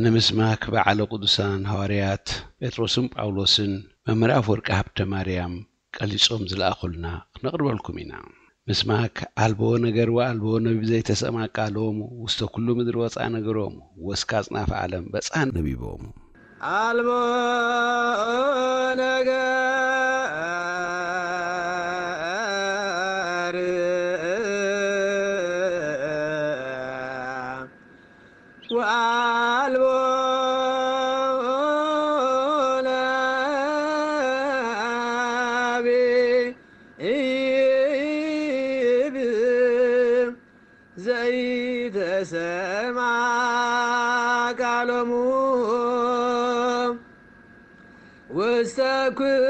ንምስማክ በዓለ ቅዱሳን ሃዋርያት ጴጥሮስን ጳውሎስን መምህር ኣፈወርቂ ሃብተ ማርያም ቀሊጾም ዝለኣኹልና ክነቕርበልኩም ኢና። ምስማክ ኣልቦ ነገር ወኣልቦ ነቢብ ዘይተሰምዐ ቃሎሙ፣ ውስተ ኩሉ ምድሪ ወፅኣ ነገሮሙ፣ ወስከ ኣጽናፈ ዓለም በጽሐ ነቢቦሙ። ኣልቦ ነገር ወአልቦ ነቢብ ዘይተሰምዐ ቃሎሙ ውስተ ኩሉ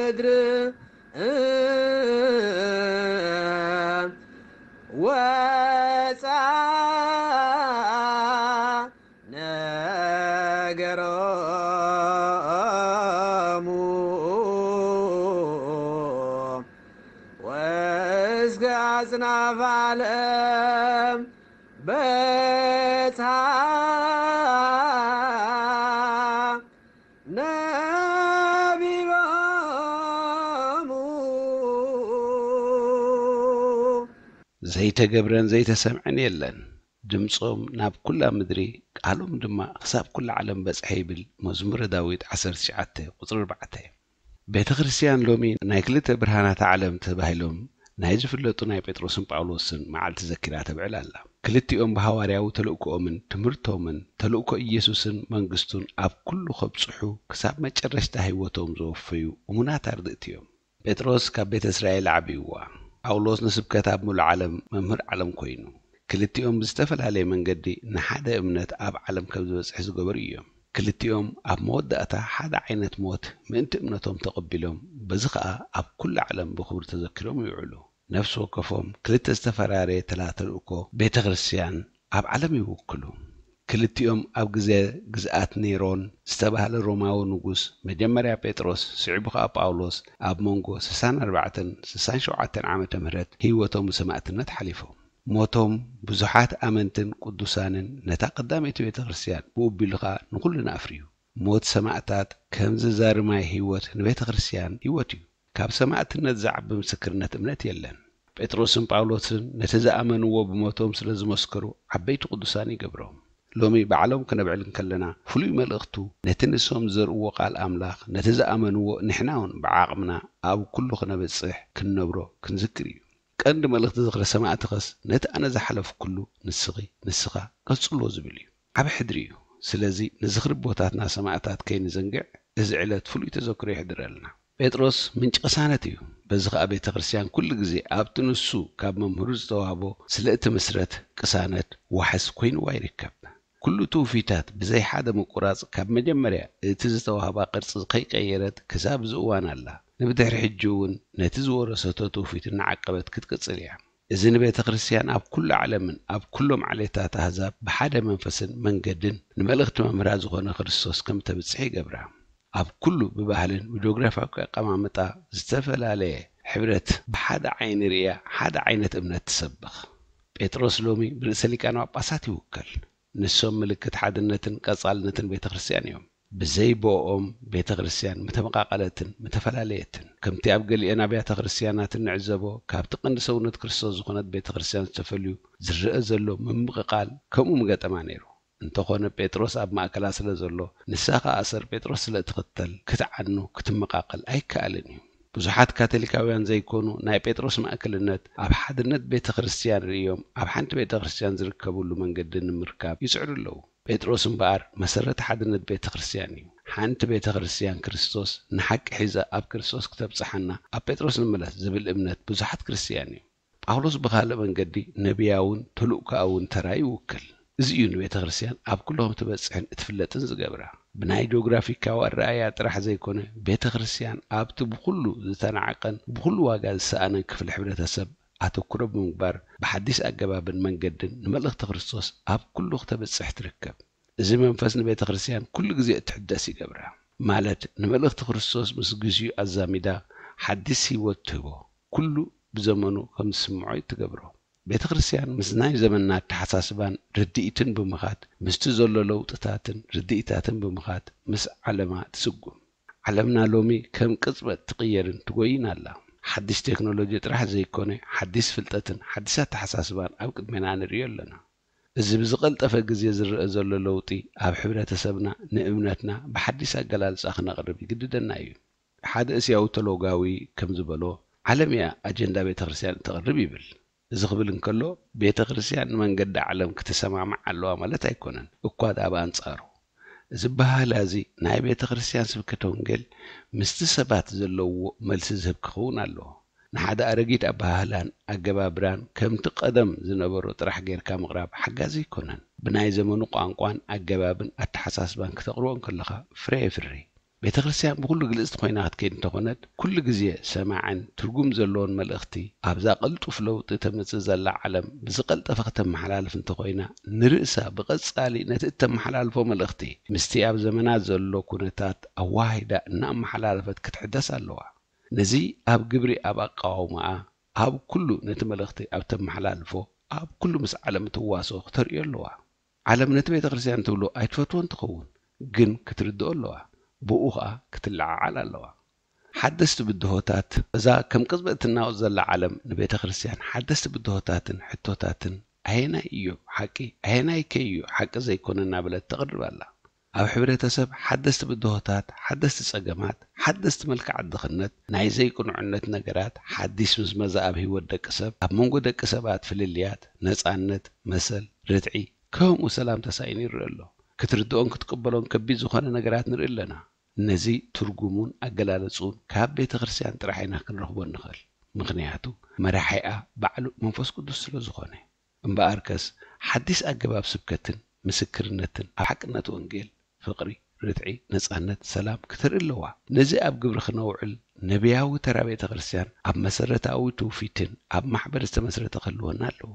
ምድሪ ወፃ ነገሮሙ ወእስከ ኣጽናፈ ዓለም በጽሐ ነቢቦሙ። ዘይተገብረን ዘይተሰምዐን የለን። ድምጾም ናብ ኩላ ምድሪ፣ ቃሎም ድማ ክሳብ ኩላ ዓለም በጽሐ ይብል መዝሙረ ዳዊት ዓሰርተ ትሽዓተ ቁጽሪ ኣርባዕተ። ቤተ ክርስቲያን ሎሚ ናይ ክልተ ብርሃናት ዓለም ተባሂሎም ናይ ዝፍለጡ ናይ ጴጥሮስን ጳውሎስን መዓልቲ ዘኪራ ተብዕል ኣላ። ክልቲኦም ብሃዋርያዊ ተልእኮኦምን ትምህርቶምን ተልእኮ ኢየሱስን መንግስቱን ኣብ ኩሉ ከብጽሑ ክሳብ መጨረሽታ ህይወቶም ዘወፈዩ እሙናት ኣርድእቲ እዮም። ጴጥሮስ ካብ ቤተ እስራኤል ዓብይዋ። ጳውሎስ ንስብከት ኣብ ምሉእ ዓለም መምህር ዓለም ኮይኑ። ክልቲኦም ብዝተፈላለየ መንገዲ ንሓደ እምነት ኣብ ዓለም ከም ዝበጽሕ ዝገበሩ እዮም። ክልቲኦም ኣብ መወዳእታ ሓደ ዓይነት ሞት ምእንቲ እምነቶም ተቐቢሎም፣ በዚ ኸኣ ኣብ ኩሉ ዓለም ብኽብሪ ተዘኪሮም ይውዕሉ። ነፍሲ ወከፎም ክልተ ዝተፈራረየ ተላ ተልእኮ ቤተ ክርስቲያን ኣብ ዓለም ይውክሉ። ክልቲኦም ኣብ ግዜ ግዝኣት ኔሮን ዝተባህለ ሮማዊ ንጉስ፣ መጀመርያ ጴጥሮስ፣ ስዒቡ ኸኣ ጳውሎስ፣ ኣብ መንጎ ስሳን ኣርባዕተን ስሳን ሸውዓተን ዓመተ ምህረት ህይወቶም ብሰማእትነት ሓሊፎም። ሞቶም ብዙሓት ኣመንትን ቅዱሳንን ነታ ቀዳመይቲ ቤተ ክርስቲያን ብኡ ኣቢሉ ኸኣ ንኹልና ኣፍርዩ። ሞት ሰማእታት ከም ዝዛሪ ማይ ህይወት ንቤተ ክርስቲያን ህይወት እዩ። ካብ ሰማእትነት ዝዓቢ ምስክርነት እምነት የለን። ጴጥሮስን ጳውሎስን ነቲ ዝኣመንዎ ብሞቶም ስለ ዝመስከሩ ዓበይቲ ቅዱሳን ይገብሮም። ሎሚ ባዕሎም ክነብዕል እንከለና ፍሉይ መልእኽቱ ነቲ ንሶም ዝዘርእዎ ቃል ኣምላኽ ነቲ ዝኣመንዎ ንሕና እውን ብዓቕምና ኣብ ኩሉ ክነብጽሕ ክንነብሮ ክንዝክር እዩ። ቀንዲ መልእኽቲ ዝኽሪ ሰማእትኸስ ነቲ ኣነ ዝሓለፍኩሉ ንስኺ ንስኻ ቀጽሎ ዝብል እዩ። ዓቢ ሕድሪ እዩ። ስለዚ ንዝኽሪ ኣቦታትና ሰማእታት ከይንዘንግዕ እዚ ዕለት ፍሉይ ተዘክሮ የሕድረልና። ጴጥሮስ ምንጪ ቅሳነት እዩ። በዚ ኸኣ ቤተ ክርስቲያን ኩሉ ግዜ ኣብቲ ንሱ ካብ መምህሩ ዝተዋህቦ ስለ እትምስረት ቅሳነት ዋሕስ ኮይንዋ ይርከብ። ኩሉ ትውፊታት ብዘይ ሓደ ምቁራጽ ካብ መጀመርያ እቲ ዝተዋህባ ቅርጺ ከይቀየረት ክሳብ እዚ እዋን ኣላ። ንብድሕሪ ሕጂ እውን ነቲ ዝወረሰቶ ትውፊት እናዓቀበት ክትቅጽል እያ። እዚ ንቤተ ክርስቲያን ኣብ ኩሉ ዓለምን ኣብ ኩሎም ዓሌታት ኣህዛብ ብሓደ መንፈስን መንገድን ንመልእኽቲ መምህራ ዝኾነ ክርስቶስ ከም ተብጽሕ ይገብራ። ኣብ ኩሉ ብባህልን ብጂኦግራፊያዊ ኣቀማምጣ ዝተፈላለየ ሕብረት ብሓደ ዓይኒ ርእያ ሓደ ዓይነት እምነት ትሰብኽ። ጴጥሮስ ሎሚ ብርእሰ ሊቃነ ጳጳሳት ይውከል። ንሶም ምልክት ሓድነትን ቀጻልነትን ቤተ ክርስቲያን እዮም። ብዘይ ብኦም ቤተ ክርስቲያን ምተመቓቐለትን ምተፈላለየትን። ከምቲ ኣብ ገሊአን ኣብያተ ክርስቲያናት እንዕዘቦ፣ ካብቲ ቀንዲ ሰውነት ክርስቶስ ዝኾነት ቤተ ክርስቲያን ዝተፈልዩ ዝረአ ዘሎ ምምቕቓል ከምኡ ምገጠማ ነይሩ። እንተኾነ ጴጥሮስ ኣብ ማእከላ ስለ ዘሎ፣ ንሳ ኸኣ ኣሰር ጴጥሮስ ስለ እትኽተል ክትዓኑ፣ ክትመቓቐል ኣይከኣልን እዩ። ብዙሓት ካቶሊካውያን ዘይኮኑ ናይ ጴጥሮስ ማእከልነት ኣብ ሓድነት ቤተ ክርስቲያን ርእዮም ኣብ ሓንቲ ቤተ ክርስቲያን ዝርከብሉ መንገዲ ንምርካብ ይጽዕሩ ኣለዉ። ጴጥሮስ እምበኣር መሰረት ሓድነት ቤተ ክርስቲያን እዩ። ሓንቲ ቤተ ክርስቲያን ክርስቶስ ንሓቂ ሒዛ ኣብ ክርስቶስ ክተብጽሓና ኣብ ጴጥሮስ ንመለስ ዝብል እምነት ብዙሓት ክርስቲያን እዩ። ጳውሎስ ብኻልእ መንገዲ ነቢያውን ተልእኮኣውን ተራ ይውክል። እዚ እዩ ንቤተ ክርስቲያን ኣብ ኩሉ ከም ትበጽሕን እትፍለጥን ዝገብራ። ብናይ ጂኦግራፊካዊ ኣረኣእያ ጥራሕ ዘይኮነ፣ ቤተ ክርስቲያን ኣብቲ ብኹሉ ዝተናዕቀን ብኹሉ ዋጋ ዝሰኣነን ክፍሊ ሕብረተሰብ ኣተኩሮ ብምግባር ብሓዲስ ኣገባብን መንገድን ንመልእኽቲ ክርስቶስ ኣብ ኩሉ ክተብጽሕ ትርከብ። እዚ መንፈስ ንቤተ ክርስቲያን ኩሉ ግዜ እትሕደስ ይገብራ። ማለት ንመልእኽቲ ክርስቶስ ምስ ግዚኡ ኣዛሚዳ ሓዲስ ህይወት ትህቦ። ኩሉ ብዘመኑ ከም ዝስምዖ ትገብሮ። ቤተ ክርስቲያን ምስ ናይ ዘመንና ኣተሓሳስባን ርድኢትን ብምኻድ፣ ምስቲ ዘሎ ለውጥታትን ርድኢታትን ብምኻድ ምስ ዓለማ ትስጉም። ዓለምና ሎሚ ከም ቅጽበት ትቕየርን ትጎይን ኣላ። ሓድሽ ቴክኖሎጂ ጥራሕ ዘይኮነ፣ ሓድሽ ፍልጠትን ሓድሽ ኣተሓሳስባን ኣብ ቅድሜና ንርእዮ ኣለና። እዚ ብዝቐልጠፈ ግዜ ዝረአ ዘሎ ለውጢ ኣብ ሕብረተሰብና ንእምነትና ብሓድሽ ኣገላልጻ ክነቕርብ ይግድደና እዩ። ሓደ እስያዊ ተሎጋዊ ከም ዝበሎ፣ ዓለም እያ ኣጀንዳ ቤተ ክርስቲያን እተቕርብ ይብል። እዚ ክብል እንከሎ፣ ቤተ ክርስቲያን ንመንገዲ ዓለም ክትሰማማዕ ኣለዋ ማለት ኣይኮነን፣ እኳ ደኣ ብኣንጻሩ። እዚ ኣበሃህላ እዚ ናይ ቤተ ክርስቲያን ስብከተ ወንጌል ምስቲ ሰባት ዘለዎ መልሲ ዝህብ ክኸውን ኣለዎ። ንሓደ ኣረጊት ኣበሃህላን ኣገባብራን ከምቲ ቀደም ዝነበሮ ጥራሕ ጌርካ ምቕራብ ሓጋዚ ኣይኮነን። ብናይ ዘመኑ ቋንቋን ኣገባብን ኣተሓሳስባን ክተቕርቦ እንከለኻ ፍረ የፍሪ። ቤተ ክርስቲያን ብኹሉ ግልጽቲ ኮይና ክትከይድ እንተኾነት፣ ኩሉ ግዜ ሰማዕን ትርጉም ዘለዎን መልእኽቲ ኣብዛ ቅልጡፍ ለውጢ ተመጽእ ዘላ ዓለም ብዝቐልጠፈ ከተመሓላልፍ እንተኾይና፣ ንርእሳ ብቐጻሊ ነቲ እተመሓላልፎ መልእኽቲ ምስቲ ኣብ ዘመና ዘሎ ኩነታት ኣዋሂዳ እናኣመሓላለፈት ክትሕደስ ኣለዋ። ነዚ ኣብ ግብሪ ኣብ ኣቃውማኣ፣ ኣብ ኩሉ ነቲ መልእኽቲ ኣብ ተመሓላልፎ፣ ኣብ ኩሉ ምስ ዓለም እትዋስኦ ክተርእዮ ኣለዋ። ዓለም ነቲ ቤተ ክርስቲያን ትብሎ ኣይትፈትዎን ትኸውን፣ ግን ክትርድኦ ኣለዋ። ብኡ ኸኣ ክትለዓዓል ኣለዋ። ሓደስቲ ብድሆታት፣ እዛ ከም ቅጽበት እትናወጽ ዘላ ዓለም ንቤተ ክርስቲያን ሓደስቲ ብድሆታትን ሕቶታትን ኣየናይ እዩ ሓቂ፣ ኣየናይ ከ እዩ ሓቂ ዘይኮነ እናበለት ተቕርብ ኣላ። ኣብ ሕብረተሰብ ሓደስቲ ብድሆታት፣ ሓደስቲ ጸገማት፣ ሓደስቲ መልክዓት ድኽነት፣ ናይ ዘይቅኑዕነት ነገራት፣ ሓዲስ ምዝመዛ ኣብ ህይወት ደቂ ሰብ፣ ኣብ መንጎ ደቂ ሰባት ፍልልያት፣ ነጻነት፣ መሰል፣ ርትዒ፣ ከምኡ ሰላም ተሳኢኑ ይረአ ኣሎ። ክትርድኦን ክትቅበሎን ከቢድ ዝኾነ ነገራት ንርኢ ኣለና። ነዚ ትርጉሙን ኣገላልጽኡን ካብ ቤተ ክርስቲያን ጥራሕ ኢና ክንረኽቦ እንኽእል። ምኽንያቱ መራሒኣ ባዕሉ መንፈስ ቅዱስ ስለ ዝኾነ። እምበኣርከስ ሓዲስ ኣገባብ ስብከትን ምስክርነትን ኣብ ሓቅነት ወንጌል፣ ፍቕሪ፣ ርትዒ፣ ነጻነት፣ ሰላም ክተርኢ ኣለዋ። ነዚ ኣብ ግብሪ ክነውዕል ነቢያዊ ተራ ቤተ ክርስቲያን ኣብ መሰረታዊ ትውፊትን ኣብ ማሕበር ዝተመስረተ ክህልወና ኣለዎ።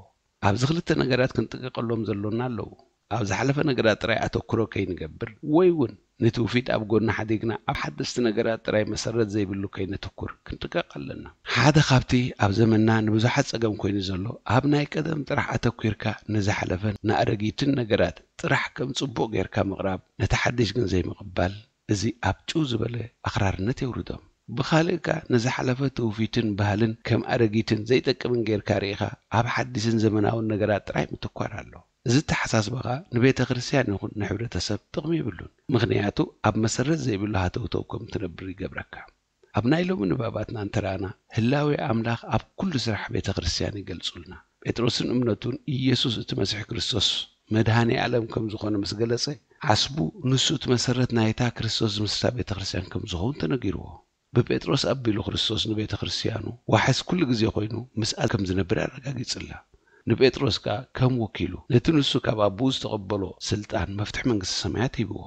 ኣብዚ ክልተ ነገራት ክንጥንቀቐሎም ዘሎና ኣለዉ። ኣብ ዝሓለፈ ነገራት ጥራይ ኣተኩሮ ከይንገብር ወይ እውን ንትውፊት ኣብ ጎኒ ሓዲግና ኣብ ሓደስቲ ነገራት ጥራይ መሰረት ዘይብሉ ከይነትኩር ክንጥንቀቕ ኣለና። ሓደ ካብቲ ኣብ ዘመንና ንብዙሓት ጸገም ኮይኑ ዘሎ ኣብ ናይ ቀደም ጥራሕ ኣተኲርካ ንዝሓለፈን ንኣረጊትን ነገራት ጥራሕ ከም ጽቡቕ ጌርካ ምቕራብ ነቲ ሓድሽ ግን ዘይምቕባል እዚ ኣብ ጭው ዝበለ ኣኽራርነት የውርዶም። ብኻልእ ከኣ ንዝሓለፈ ትውፊትን ባህልን ከም ኣረጊትን ዘይጠቅምን ጌርካ ርኢኻ ኣብ ሓዲስን ዘመናውን ነገራት ጥራይ ምትኳር ኣሎ። እዚ ኣተሓሳስባ ኸኣ ንቤተ ክርስቲያን ይኹን ንሕብረተሰብ ጥቕሚ የብሉን። ምኽንያቱ ኣብ መሰረት ዘይብሉ ሃተውተው ከም ትነብር ይገብረካ። ኣብ ናይ ሎሚ ንባባትና እንተረኣና ህላዌ ኣምላኽ ኣብ ኩሉ ስራሕ ቤተ ክርስቲያን ይገልጹልና። ጴጥሮስን እምነቱን ኢየሱስ እቲ መሲሕ ክርስቶስ መድሃኔ ዓለም ከም ዝኾነ ምስ ገለጸ ዓስቡ ንሱ እቲ መሰረት ናይታ ክርስቶስ ዝምስርታ ቤተ ክርስቲያን ከም ዝኸውን ተነጊርዎ። ብጴጥሮስ ኣቢሉ ክርስቶስ ንቤተ ክርስቲያኑ ዋሕስ ኩሉ ግዜ ኮይኑ ምስኣ ከም ዝነብር ኣረጋጊጽላ። ንጴጥሮስ ከኣ ከም ወኪሉ ነቲ ንሱ ካብ ኣቦኡ ዝተቐበሎ ስልጣን መፍትሒ መንግስቲ ሰማያት ሂብዎ።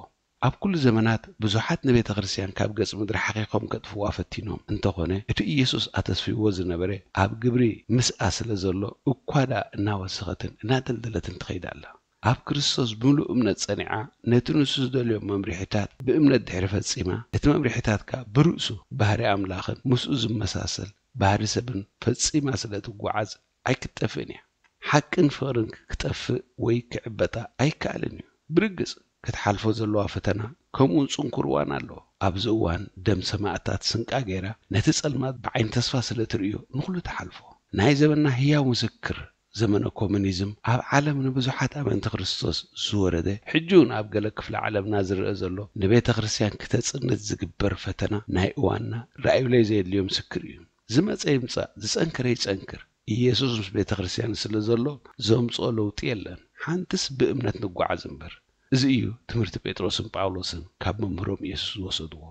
ኣብ ኩሉ ዘመናት ብዙሓት ንቤተ ክርስቲያን ካብ ገጽ ምድሪ ሓኺኾም ከጥፍዋ ፈቲኖም እንተኾነ እቲ ኢየሱስ ኣተስፊዎ ዝነበረ ኣብ ግብሪ ምስኣ ስለ ዘሎ እኳ ደኣ እናወሰኸትን እናደልደለትን ትኸይድ ኣላ። ኣብ ክርስቶስ ብምሉእ እምነት ጸኒዓ ነቲ ንሱ ዝደልዮም መምርሒታት ብእምነት ድሕሪ ፈጺማ እቲ መምርሒታት ከኣ ብርእሱ ባህሪ ኣምላኽን ምስኡ ዝመሳሰል ባህሪ ሰብን ፈጺማ ስለ ትጓዓዝ ኣይክትጠፍእን እያ። ሓቅን ፍቕርን ክጠፍእ ወይ ክዕበጣ ኣይከኣልን እዩ። ብርግጽ ክትሓልፎ ዘለዋ ፈተና ከምኡ ጽንኩር እዋን ኣሎ። ኣብዚ እዋን ደም ሰማእታት ስንቃ ገይራ ነቲ ጸልማት ብዓይኒ ተስፋ ስለ ትርእዮ ንኹሉ ትሓልፎ። ናይ ዘመንና ህያው ምስክር ዘመነ ኮሙኒዝም ኣብ ዓለም ንብዙሓት ኣመንቲ ክርስቶስ ዝወረደ ሕጂ እውን ኣብ ገለ ክፍለ ዓለምና ዝረአ ዘሎ ንቤተ ክርስቲያን ክተጽንት ዝግበር ፈተና ናይ እዋንና ርኣዩለይ ዘየድልዮ ምስክር እዩ። ዝመጸ ይምጻእ ዝጸንከረ ይጸንክር ኢየሱስ ምስ ቤተ ክርስቲያን ስለ ዘሎ ዘምጽኦ ለውጢ የለን። ሓንትስ ብእምነት ንጓዓዝ እምበር። እዚ እዩ ትምህርቲ ጴጥሮስን ጳውሎስን ካብ መምህሮም ኢየሱስ ዝወሰድዎ።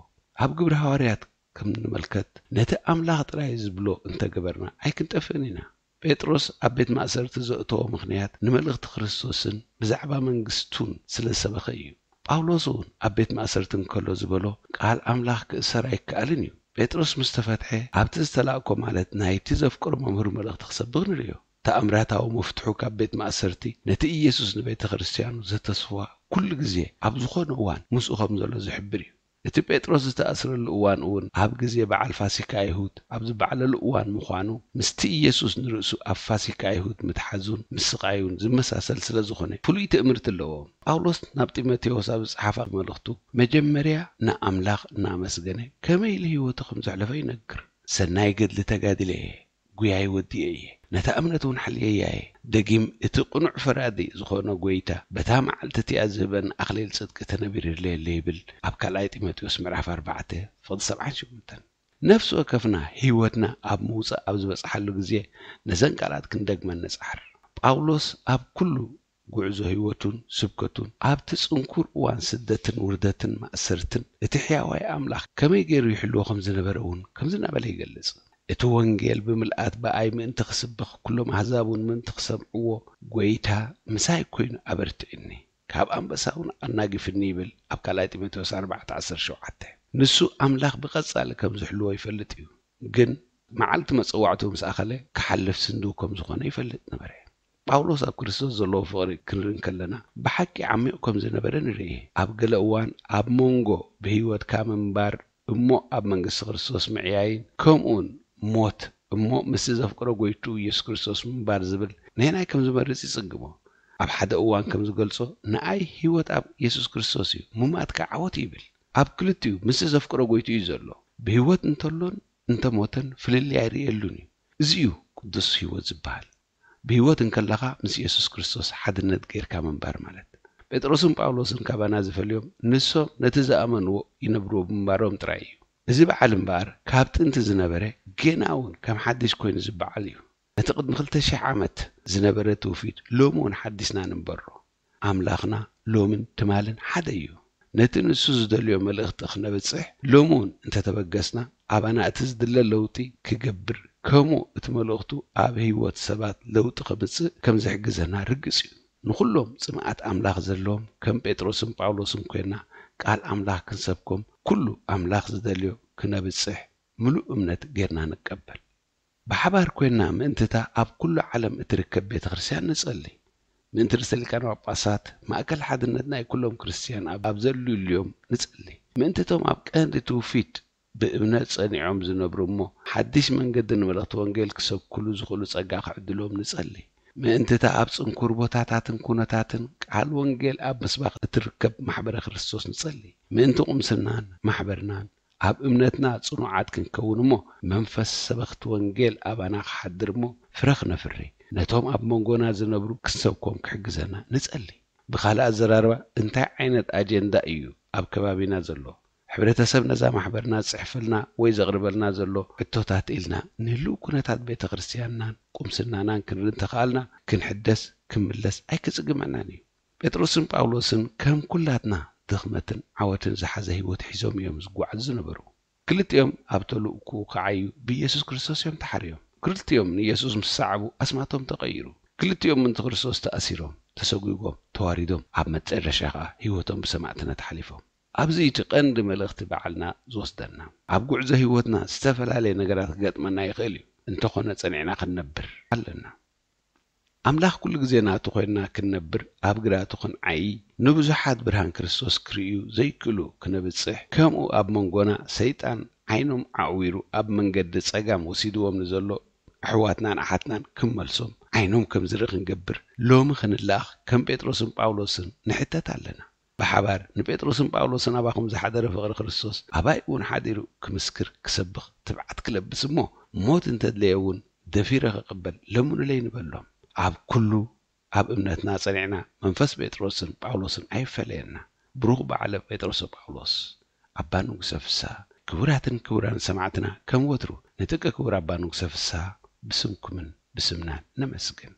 ኣብ ግብሪ ሃዋርያት ከም ንምልከት ነቲ ኣምላኽ ጥራይ ዝብሎ እንተገበርና ኣይክንጠፍእን ኢና። ጴጥሮስ ኣብ ቤት ማእሰርቲ ዘእተዎ ምኽንያት ንመልእኽቲ ክርስቶስን ብዛዕባ መንግስቱን ስለ ዝሰበኸ እዩ። ጳውሎስ እውን ኣብ ቤት ማእሰርቲ እንከሎ ዝበሎ ቃል ኣምላኽ ክእሰር ኣይከኣልን እዩ። ጴጥሮስ ምስ ተፈትሐ ኣብቲ ዝተላእኮ ማለት ናይቲ ዘፍቅሮ መምህር መልእኽቲ ክሰብኽ ንርእዮ። ተኣምራታዊ መፍትሑ ካብ ቤት ማእሰርቲ ነቲ ኢየሱስ ንቤተ ክርስቲያኑ ዘተስፍዋ ኩሉ ግዜ ኣብ ዝኾነ እዋን ምስኡ ከም ዘሎ ዝሕብር እዩ። እቲ ጴጥሮስ ዝተኣስረሉ እዋን እውን ኣብ ግዜ በዓል ፋሲካ ይሁድ ኣብ ዝበዓለሉ እዋን ምዃኑ፣ ምስቲ ኢየሱስ ንርእሱ ኣብ ፋሲካ ይሁድ ምትሓዙን ምስቓዩን ዝመሳሰል ስለ ዝኾነ ፍሉይ ትእምርቲ ኣለዎ። ጳውሎስ ናብ ጢሞቴዎስ ኣብ ዝጸሓፋ መልእኽቱ፣ መጀመርያ ንኣምላኽ እናመስገነ ከመይ ኢሉ ህይወቱ ከም ዘሕለፈ ይነግር። "ሰናይ ገድሊ ተጋድለ እየ፣ ጉያይ ወዲኤ እየ፣ ነታ እምነት እውን ሓልየያ እየ። ደጊም እቲ ቅኑዕ ፈራዲ ዝኾነ ጐይታ በታ መዓልቲ እቲኣ ዝህበኒ ኣኽሊል ጽድቂ ተነቢርለይ ኣሎ" ይብል ኣብ ካልኣይ ጢሞቴዎስ ምዕራፍ ኣርባዕተ ፍቕዲ ሰብዓን ሸሞንተን። ነፍሲ ወከፍና ህይወትና ኣብ ምውጻእ ኣብ ዝበጽሓሉ ግዜ ነዘን ቃላት ክንደግመን ንጽዓር። ጳውሎስ ኣብ ኩሉ ጉዕዞ ህይወቱን ስብከቱን ኣብቲ ጽንኩር እዋን ስደትን ውርደትን ማእሰርትን እቲ ሕያዋይ ኣምላኽ ከመይ ገይሩ ይሕልዎ ከም ዝነበረ እውን ከምዚ እናበለ ይገልጽ። "እቲ ወንጌል ብምልኣት ብኣይ ምእንቲ ክስበኽ ኩሎም ኣህዛብ እውን ምእንቲ ክሰምዕዎ ጐይታ ምሳይ ኮይኑ ኣበርቲዑኒ፣ ካብ ኣንበሳ እውን ኣናጊፍኒ" ይብል ኣብ ካልኣይ ጢሞቴዎስ ኣርባዕተ ዓሰርተ ሸውዓተ። ንሱ ኣምላኽ ብቐጻሊ ከም ዝሕልዎ ይፈልጥ እዩ፣ ግን መዓልቲ መጸዋዕትኡ ምስ ኣኸለ ክሓልፍ ስንድው ከም ዝኾነ ይፈልጥ ነበረ። ጳውሎስ ኣብ ክርስቶስ ዘለዎ ፍቕሪ ክንርኢ እንከለና ብሓቂ ዓሚቕ ከም ዝነበረ ንርኢ። ኣብ ገለ እዋን ኣብ መንጎ ብህይወትካ ምንባር እሞ ኣብ መንግስቲ ክርስቶስ ምዕያይን ከምኡውን ሞት እሞ ምስቲ ዘፍቅሮ ጐይትኡ ኢየሱስ ክርስቶስ ምንባር ዝብል ነየናይ ከም ዝመርጽ ይጽግሞ። ኣብ ሓደ እዋን ከም ዝገልጾ፣ "ንኣይ ህይወት ኣብ ኢየሱስ ክርስቶስ እዩ፣ ሙማት ከኣ ዓወት እዩ" ይብል። ኣብ ክልቲኡ ምስቲ ዘፍቅሮ ጐይትኡ እዩ ዘሎ። ብህይወት እንተሎን እንተሞተን ፍልልይ ኣይርእየሉን እዩ። እዚ እዩ ቅዱስ ህይወት ዝበሃል። ብህይወት እንከለኻ ምስ ኢየሱስ ክርስቶስ ሓድነት ጌርካ ምንባር ማለት። ጴጥሮስን ጳውሎስን ካባና ዝፈልዮም ንሶም ነቲ ዝኣመንዎ ይነብርዎ ብምንባሮም ጥራይ እዩ። እዚ በዓል እምበኣር ካብ ጥንቲ ዝነበረ፣ ጌና እውን ከም ሓድሽ ኮይኑ ዝበዓል እዩ። ነቲ ቅድሚ ክልተ ሽሕ ዓመት ዝነበረ ትውፊት ሎሚ እውን ሓዲስና ንንበሮ። ኣምላኽና ሎምን ትማልን ሓደ እዩ። ነቲ ንሱ ዝደልዮ መልእኽቲ ክነብጽሕ ሎሚ እውን እንተተበገስና፣ ኣባና እቲ ዝድለ ለውጢ ክገብር፣ ከምኡ እቲ መልእኽቱ ኣብ ህይወት ሰባት ለውጢ ከምጽእ ከም ዝሕግዘና ርግጽ እዩ። ንኹሎም ጽምኣት ኣምላኽ ዘለዎም ከም ጴጥሮስን ጳውሎስን ኮይና ቃል ኣምላኽ ክንሰብኮም፣ ኩሉ ኣምላኽ ዝደልዮ ክነብጽሕ ምሉእ እምነት ጌርና ንቀበል። ብሓባር ኮይና ምእንቲ እታ ኣብ ኩሉ ዓለም እትርከብ ቤተ ክርስቲያን ንጸሊ። ምእንቲ ርእሰ ሊቃነ ጳጳሳት፣ ማእከል ሓድነት ናይ ኩሎም ክርስቲያን ኣብ፣ ኣብ ዘልልዮም ንጸሊ። ምእንቲ እቶም ኣብ ቀንዲ ትውፊት ብእምነት ጸኒዖም ዝነብሩ እሞ ሓድሽ መንገዲ ንመልእኽቲ ወንጌል ክሰብኩሉ ዝኽእሉ ጸጋ ክዕድሎም ንጸሊ። ምእንቲ እታ ኣብ ጽንኩር ቦታታትን ኩነታትን ቃል ወንጌል ኣብ ምስባኽ እትርከብ ማሕበረ ክርስቶስ ንጸሊ። ምእንቲ ቁምስናን ማሕበርናን ኣብ እምነትና ጽኑዓት ክንከውን እሞ መንፈስ ሰበኽቲ ወንጌል ኣባና ክሓድር እሞ ፍረ ክነፍሪ፣ ነቶም ኣብ መንጎና ዝነብሩ ክንሰብኮም ክሕግዘና ንጸሊ። ብኻልእ ኣዘራርባ እንታይ ዓይነት ኣጀንዳ እዩ ኣብ ከባቢና ዘሎ? ሕብረተሰብ ነዛ ማሕበርና ዝጽሕፈልና ወይ ዘቕርበልና ዘሎ ሕቶታት ኢልና ንህልው ኩነታት ቤተ ክርስቲያንናን ቁምስናናን ክንርኢ እንተኸኣልና ክንሕደስ፣ ክንምለስ ኣይክጽግመናን እዩ። ጴጥሮስን ጳውሎስን ከም ኩላትና ድኽመትን ዓወትን ዝሓዘ ህይወት ሒዞም እዮም ዝጓዓዙ ዝነበሩ። ክልቲኦም ኣብ ተልእኮ ክዓዩ ብኢየሱስ ክርስቶስ እዮም ተሓርዮም። ክልቲኦም ንኢየሱስ ምስ ሰዓቡ ኣስማቶም ተቐይሩ። ክልቲኦም ምእንቲ ክርስቶስ ተኣሲሮም፣ ተሰጒጎም፣ ተዋሪዶም፣ ኣብ መጨረሻ ኸኣ ህይወቶም ብሰማዕትነት ሓሊፎም። ኣብዚ እቲ ቀንዲ መልእኽቲ በዓልና ዝወስደና። ኣብ ጉዕዞ ህይወትና ዝተፈላለየ ነገራት ክገጥመና ይኽእል እዩ። እንተኾነ ጸኒዕና ክንነብር ኣለና። ኣምላኽ ኩሉ ግዜ ናቱ ኮይንና ክንነብር፣ ኣብ ግራቱ ክንዓዪ፣ ንብዙሓት ብርሃን ክርስቶስ ክርእዩ ዘይክእሉ ክነብጽሕ፣ ከምኡ ኣብ መንጎና ሰይጣን ዓይኖም ኣዕዊሩ ኣብ መንገዲ ጸጋም ወሲድዎም ንዘሎ ኣሕዋትናን ኣሓትናን ክመልሶም ዓይኖም ከም ዝርኢ ክንገብር፣ ሎሚ ክንለኣኽ ከም ጴጥሮስን ጳውሎስን ንሕተት ኣለና። ብሓባር ንጴጥሮስን ጳውሎስን ኣባኹም ዝሓደረ ፍቕሪ ክርስቶስ ኣባይ እውን ሓዲሩ ክምስክር ክሰብኽ ትብዓት ክለብስ እሞ ሞት እንተድለየ እውን ደፊረ ክቕበል ለምኑለይ ንበሎም። ኣብ ኩሉ ኣብ እምነትና ጸኒዕና መንፈስ ጴጥሮስን ጳውሎስን ኣይፈለየና። ብሩኽ በዓለ ጴጥሮስ ጳውሎስ። ኣባ ንጉሰ ፍስሃ። ክቡራትን ክቡራን ሰማዕትና ከም ወትሩ ንጥቀ ክቡር ኣባ ንጉሰ ፍስሃ ብስምኩምን ብስምናን ነመስግን።